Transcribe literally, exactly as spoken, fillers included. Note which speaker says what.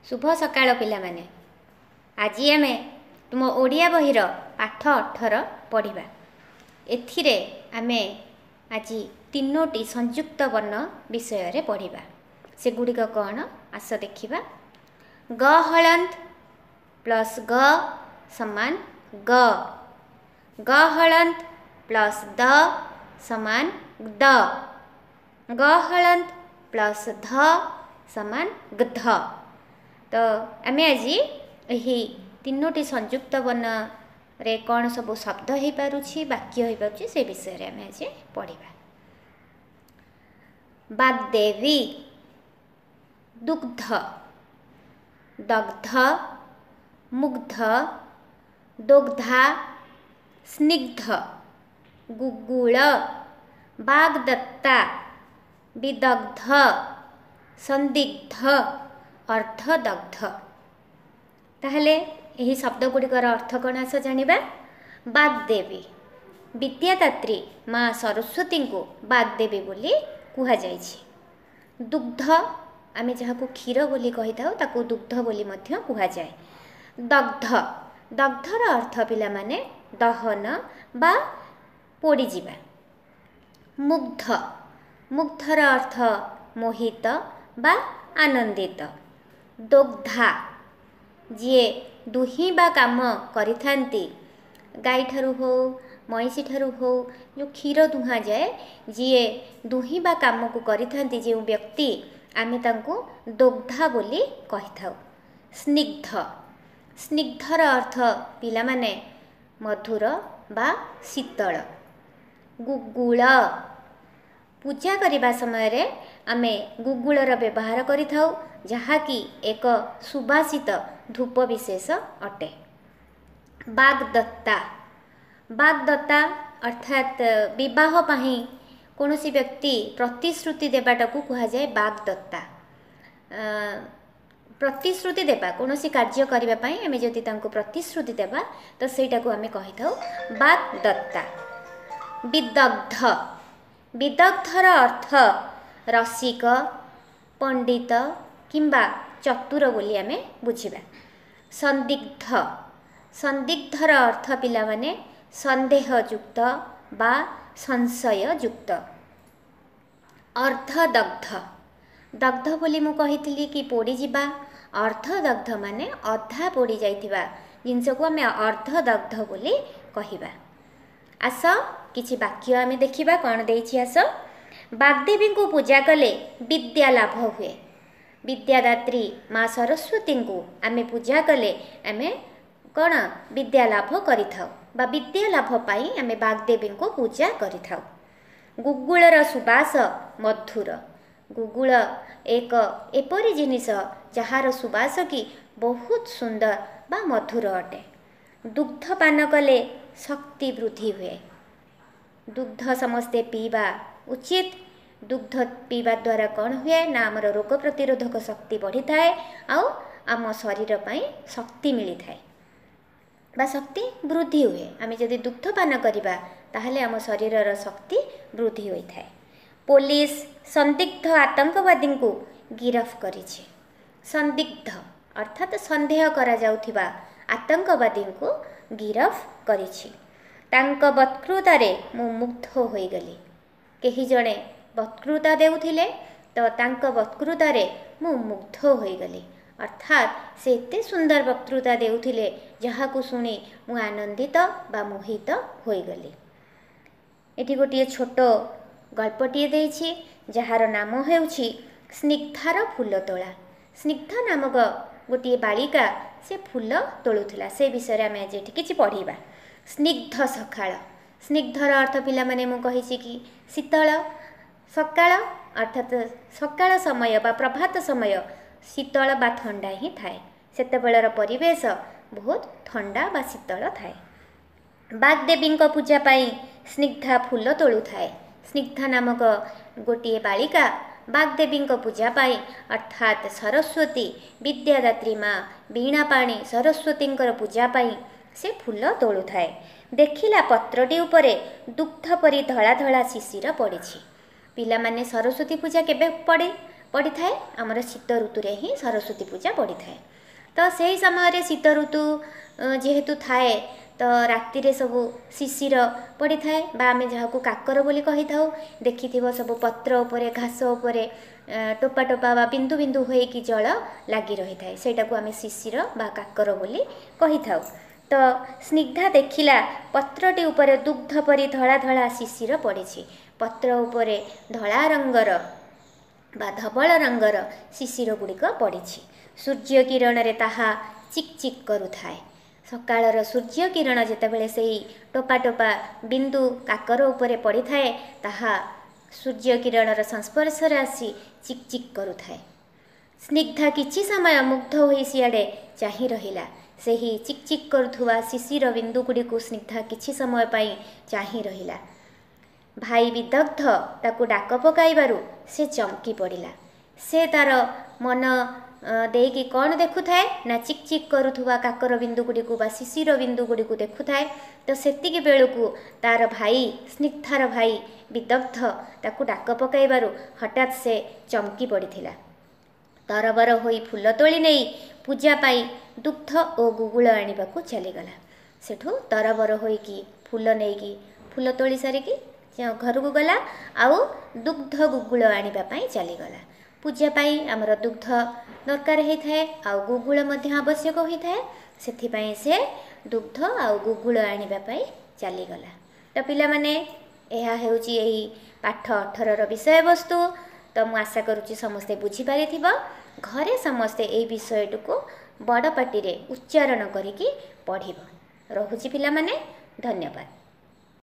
Speaker 1: ଶୁଭ ସକାଳ ପିଲାମାନେ। ଆଜି ଆମେ ତୁମ ଓଡ଼ିଆ ବହିର ପାଠ ଅଠର ପଢ଼ିବା। ଏଥିରେ ଆମେ ଆଜି ତିନୋଟି ସଂଯୁକ୍ତ ବର୍ଣ୍ଣ ବିଷୟରେ ପଢ଼ିବା। ସେଗୁଡ଼ିକ କ'ଣ, ଆସ ଦେଖିବା। ଗ ହଳନ୍ତ ପ୍ଲସ୍ ଗ ସମାନ ଗ, ଗ ହଳନ୍ତ ପ୍ଲସ୍ ଦ ସମାନ ଦ, ଗ ହଳନ୍ତ ପ୍ଲସ୍ ଧ ସମାନ ଗ୍ଧ। ତ ଆମେ ଆଜି ଏହି ତିନୋଟି ସଂଯୁକ୍ତ ବର୍ଣ୍ଣରେ କ'ଣ ସବୁ ଶବ୍ଦ ହେଇପାରୁଛି, ବାକ୍ୟ ହେଇପାରୁଛି, ସେ ବିଷୟରେ ଆମେ ଆଜି ପଢ଼ିବା। ବାଗ୍ଦେବୀ, ଦୁଗ୍ଧ, ଦଗ୍ଧ, ମୁଗ୍ଧ, ଦୋଗ୍ଧା, ସ୍ନିଗ୍ଧ, ଗୁଗୁଳ, ବାଗ୍ଦତ୍ତା, ବିଦଗ୍ଧ, ସନ୍ଦିଗ୍ଧ, ଅର୍ଦ୍ଧଦଗ୍ଧ। ତାହେଲେ ଏହି ଶବ୍ଦ ଗୁଡ଼ିକର ଅର୍ଥ କ'ଣ, ଆସ ଜାଣିବା। ବାଗ୍ଦେବୀ, ବିଦ୍ୟାଦାତ୍ରୀ ମା ସରସ୍ୱତୀଙ୍କୁ ବାଗ୍ଦେବୀ ବୋଲି କୁହାଯାଇଛି। ଦୁଗ୍ଧ, ଆମେ ଯାହାକୁ କ୍ଷୀର ବୋଲି କହିଥାଉ ତାକୁ ଦୁଗ୍ଧ ବୋଲି ମଧ୍ୟ କୁହାଯାଏ। ଦଗ୍ଧ, ଦଗ୍ଧର ଅର୍ଥ ପିଲାମାନେ ଦହନ ବା ପୋଡ଼ିଯିବା। ମୁଗ୍ଧ, ମୁଗ୍ଧର ଅର୍ଥ ମୋହିତ ବା ଆନନ୍ଦିତ। ଦୋଗ୍ଧା, ଯିଏ ଦୁହିଁବା କାମ କରିଥାନ୍ତି, ଗାଈଠାରୁ ହେଉ ମଇଁଷିଠାରୁ ହେଉ ଯେଉଁ କ୍ଷୀର ଦୁହାଁଯାଏ, ଯିଏ ଦୁହିଁବା କାମକୁ କରିଥାନ୍ତି ଯେଉଁ ବ୍ୟକ୍ତି, ଆମେ ତାଙ୍କୁ ଦୋଗ୍ଧା ବୋଲି କହିଥାଉ। ସ୍ନିଗ୍ଧ, ସ୍ନିଗ୍ଧର ଅର୍ଥ ପିଲାମାନେ ମଧୁର ବା ଶୀତଳ। ଗୁଗୁଳ, ପୂଜା କରିବା ସମୟରେ ଆମେ ଗୁଗୁଳର ବ୍ୟବହାର କରିଥାଉ, ଯାହାକି ଏକ ସୁବାସିତ ଧୂପ ବିଶେଷ ଅଟେ। ବାଗ୍ଦତ୍ତା, ବାଗ୍ଦତ୍ତା ଅର୍ଥାତ୍ ବିବାହ ପାଇଁ କୌଣସି ବ୍ୟକ୍ତି ପ୍ରତିଶ୍ରୁତି ଦେବାଟାକୁ କୁହାଯାଏ ବାଗ୍ଦତ୍ତା। ପ୍ରତିଶ୍ରୁତି ଦେବା, କୌଣସି କାର୍ଯ୍ୟ କରିବା ପାଇଁ ଆମେ ଯଦି ତାଙ୍କୁ ପ୍ରତିଶ୍ରୁତି ଦେବା ତ ସେଇଟାକୁ ଆମେ କହିଥାଉ ବାଗ୍ଦତ୍ତା। ବିଦଗ୍ଧ, ବିଦଗ୍ଧର ଅର୍ଥ ରସିକ, ପଣ୍ଡିତ କିମ୍ବା ଚତୁର ବୋଲି ଆମେ ବୁଝିବା। ସନ୍ଦିଗ୍ଧ, ସନ୍ଦିଗ୍ଧର ଅର୍ଥ ପିଲାମାନେ ସନ୍ଦେହଯୁକ୍ତ ବା ସଂଶୟଯୁକ୍ତ। ଅର୍ଦ୍ଧଦଗ୍ଧ, ଦଗ୍ଧ ବୋଲି ମୁଁ କହିଥିଲି କି ପୋଡ଼ିଯିବା, ଅର୍ଦ୍ଧଦଗ୍ଧ ମାନେ ଅଧା ପୋଡ଼ି ଯାଇଥିବା ଜିନିଷକୁ ଆମେ ଅର୍ଦ୍ଧଦଗ୍ଧ ବୋଲି କହିବା। ଆସ କିଛି ବାକ୍ୟ ଆମେ ଦେଖିବା କ'ଣ ଦେଇଛି। ଆସ, ବାଗ୍ଦେବୀଙ୍କୁ ପୂଜା କଲେ ବିଦ୍ୟା ଲାଭ ହୁଏ। ବିଦ୍ୟାଦାତ୍ରୀ ମା ସରସ୍ୱତୀଙ୍କୁ ଆମେ ପୂଜା କଲେ ଆମେ କ'ଣ ବିଦ୍ୟା ଲାଭ କରିଥାଉ ବା ବିଦ୍ୟା ଲାଭ ପାଇଁ ଆମେ ବାଗ୍ଦେବୀଙ୍କୁ ପୂଜା କରିଥାଉ। ଗୁଗୁଳର ସୁବାସ ମଧୁର। ଗୁଗୁଳ ଏକ ଏପରି ଜିନିଷ ଯାହାର ସୁବାସ କି ବହୁତ ସୁନ୍ଦର ବା ମଧୁର ଅଟେ। ଦୁଗ୍ଧ ପାନ କଲେ ଶକ୍ତି ବୃଦ୍ଧି ହୁଏ। ଦୁଗ୍ଧ ସମସ୍ତେ ପିଇବା ଉଚିତ। ଦୁଗ୍ଧ ପିଇବା ଦ୍ୱାରା କ'ଣ ହୁଏ ନା ଆମର ରୋଗ ପ୍ରତିରୋଧକ ଶକ୍ତି ବଢ଼ିଥାଏ ଆଉ ଆମ ଶରୀର ପାଇଁ ଶକ୍ତି ମିଳିଥାଏ ବା ଶକ୍ତି ବୃଦ୍ଧି ହୁଏ। ଆମେ ଯଦି ଦୁଗ୍ଧ ପାନ କରିବା ତାହେଲେ ଆମ ଶରୀରର ଶକ୍ତି ବୃଦ୍ଧି ହୋଇଥାଏ। ପୋଲିସ ସନ୍ଦିଗ୍ଧ ଆତଙ୍କବାଦୀଙ୍କୁ ଗିରଫ କରିଛି। ସନ୍ଦିଗ୍ଧ ଅର୍ଥାତ୍ ସନ୍ଦେହ କରାଯାଉଥିବା ଆତଙ୍କବାଦୀଙ୍କୁ ଗିରଫ କରିଛି। ତାଙ୍କ ବକ୍ତୃତାରେ ମୁଁ ମୁଗ୍ଧ ହୋଇଗଲି। କେହି ଜଣେ ବକ୍ତୃତା ଦେଉଥିଲେ ତ ତାଙ୍କ ବକ୍ତୃତାରେ ମୁଁ ମୁଗ୍ଧ ହୋଇଗଲି, ଅର୍ଥାତ୍ ସେ ଏତେ ସୁନ୍ଦର ବକ୍ତୃତା ଦେଉଥିଲେ ଯାହାକୁ ଶୁଣି ମୁଁ ଆନନ୍ଦିତ ବା ମୋହିତ ହୋଇଗଲି। ଏଠି ଗୋଟିଏ ଛୋଟ ଗଳ୍ପଟିଏ ଦେଇଛି ଯାହାର ନାମ ହେଉଛି ସ୍ନିଗ୍ଧାର ଫୁଲ ତୋଳା। ସ୍ନିଗ୍ଧା ନାମକ ଗୋଟିଏ ବାଳିକା ସେ ଫୁଲ ତୋଳୁଥିଲା, ସେ ବିଷୟରେ ଆମେ ଆଜି ଏଠି କିଛି ପଢ଼ିବା। ସ୍ନିଗ୍ଧ ସକାଳ, ସ୍ନିଗ୍ଧର ଅର୍ଥ ପିଲାମାନେ ମୁଁ କହିଛି କି ଶୀତଳ। ସକାଳ ଅର୍ଥାତ୍ ସକାଳ ସମୟ ବା ପ୍ରଭାତ ସମୟ ଶୀତଳ ବା ଥଣ୍ଡା ହିଁ ଥାଏ। ସେତେବେଳର ପରିବେଶ ବହୁତ ଥଣ୍ଡା ବା ଶୀତଳ ଥାଏ। ବାଗ୍ଦେବୀଙ୍କ ପୂଜା ପାଇଁ ସ୍ନିଗ୍ଧା ଫୁଲ ତୋଳୁଥାଏ। ସ୍ନିଗ୍ଧା ନାମକ ଗୋଟିଏ ବାଳିକା ବାଗ୍ଦେବୀଙ୍କ ପୂଜା ପାଇଁ ଅର୍ଥାତ୍ ସରସ୍ୱତୀ ବିଦ୍ୟାଦାତ୍ରୀ ମା ବୀଣାପାଣି ସରସ୍ୱତୀଙ୍କର ପୂଜା ପାଇଁ ସେ ଫୁଲ ତୋଳୁଥାଏ। ଦେଖିଲା ପତ୍ରଟି ଉପରେ ଦୁଗ୍ଧ ପରି ଧଳା ଧଳା ଶିଶିର ପଡ଼ିଛି। ପିଲାମାନେ ସରସ୍ୱତୀ ପୂଜା କେବେ ପଡ଼େ? ପଡ଼ିଥାଏ? ଆମର ଶୀତ ଋତୁରେ ହିଁ ସରସ୍ୱତୀ ପୂଜା ପଡ଼ିଥାଏ। ତ ସେହି ସମୟରେ ଶୀତ ଋତୁ ଯେହେତୁ ଥାଏ, ତ ରାତିରେ ସବୁ ଶିଶିର ପଡ଼ିଥାଏ ବା ଆମେ ଯାହାକୁ କାକର ବୋଲି କହିଥାଉ। ଦେଖିଥିବ ସବୁ ପତ୍ର ଉପରେ, ଘାସ ଉପରେ ଟୋପା ଟୋପା ବା ବିନ୍ଦୁ ବିନ୍ଦୁ ହୋଇକି ଜଳ ଲାଗି ରହିଥାଏ, ସେଇଟାକୁ ଆମେ ଶିଶିର ବା କାକର ବୋଲି କହିଥାଉ। ତ ସ୍ନିଗ୍ଧା ଦେଖିଲା ପତ୍ରଟି ଉପରେ ଦୁଗ୍ଧ ପରି ଧଳା ଧଳା ଶିଶିର ପଡ଼ିଛି। ପତ୍ର ଉପରେ ଧଳା ରଙ୍ଗର ବା ଧବଳ ରଙ୍ଗର ଶିଶିର ଗୁଡ଼ିକ ପଡ଼ିଛି। ସୂର୍ଯ୍ୟ କିରଣରେ ତାହା ଚିକ୍ ଚିକ୍ କରୁଥାଏ। ସକାଳର ସୂର୍ଯ୍ୟ କିରଣ ଯେତେବେଳେ ସେଇ ଟୋପା ଟୋପା ବିନ୍ଦୁ କାକର ଉପରେ ପଡ଼ିଥାଏ, ତାହା ସୂର୍ଯ୍ୟ କିରଣର ସଂସ୍ପର୍ଶରେ ଆସି ଚିକ୍ ଚିକ୍ କରୁଥାଏ। ସ୍ନିଗ୍ଧା କିଛି ସମୟ ମୁଗ୍ଧ ହୋଇ ସିଆଡ଼େ ଚାହିଁ ରହିଲା। ସେହି ଚିକ୍ ଚିକ୍ କରୁଥିବା ଶିଶିର ବିନ୍ଦୁ ଗୁଡ଼ିକୁ ସ୍ନିଗ୍ଧା କିଛି ସମୟ ପାଇଁ ଚାହିଁ ରହିଲା। ଭାଇ ବିଦଗ୍ଧ ତାକୁ ଡାକ ପକାଇବାରୁ ସେ ଚମକି ପଡ଼ିଲା। ସେ ତାର ମନ ଦେଇକି କ'ଣ ଦେଖୁଥାଏ ନା ଚିକ୍ ଚିକ୍ କରୁଥିବା କାକର ବିନ୍ଦୁ ଗୁଡ଼ିକୁ ବା ଶିଶିର ବିନ୍ଦୁ ଗୁଡ଼ିକୁ ଦେଖୁଥାଏ। ତ ସେତିକି ବେଳକୁ ତାର ଭାଇ, ସ୍ନିଗ୍ଧାର ଭାଇ ବିଦଗ୍ଧ ତାକୁ ଡାକ ପକାଇବାରୁ ହଠାତ୍ ସେ ଚମକି ପଡ଼ିଥିଲା। ତରବର ହୋଇ ଫୁଲ ତୋଳି ନେଇ ପୂଜା ପାଇଁ ଦୁଗ୍ଧ ଓ ଗୁଗୁଳ ଆଣିବାକୁ ଚାଲିଗଲା। ସେଠୁ ତରବର ହୋଇକି ଫୁଲ ନେଇକି, ଫୁଲ ତୋଳି ସାରିକି ଘରକୁ ଗଲା ଆଉ ଦୁଗ୍ଧ ଗୁଗୁଳ ଆଣିବା ପାଇଁ ଚାଲିଗଲା। ପୂଜା ପାଇଁ ଆମର ଦୁଗ୍ଧ ଦରକାର ହେଇଥାଏ ଆଉ ଗୁଗୁଳ ମଧ୍ୟ ଆବଶ୍ୟକ ହୋଇଥାଏ, ସେଥିପାଇଁ ସେ ଦୁଗ୍ଧ ଆଉ ଗୁଗୁଳ ଆଣିବା ପାଇଁ ଚାଲିଗଲା। ତ ପିଲାମାନେ, ଏହା ହେଉଛି ଏହି ପାଠ ଅଠରର ବିଷୟବସ୍ତୁ। ତ ମୁଁ ଆଶା କରୁଛି ସମସ୍ତେ ବୁଝିପାରିଥିବ। ଘରେ ସମସ୍ତେ ଏହି ବିଷୟଟିକୁ ବଡ଼ ପାଟିରେ ଉଚ୍ଚାରଣ କରିକି ପଢ଼ିବ। ରହୁଛି ପିଲାମାନେ, ଧନ୍ୟବାଦ।